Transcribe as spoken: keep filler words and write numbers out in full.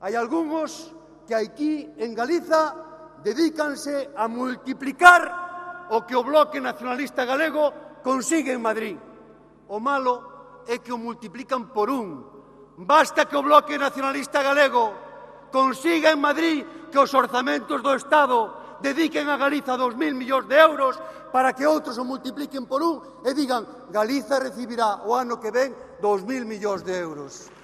Hai algúns que aquí en Galiza dedícanse a multiplicar o que o Bloque Nacionalista Galego consigue en Madrid. O malo é que o multiplican por un. Basta que o Bloque Nacionalista Galego consiga en Madrid que os orzamentos do Estado dediquen a Galiza dos mil millóns de euros para que outros o multipliquen por un e digan Galiza recibirá o ano que ven dos mil millóns de euros.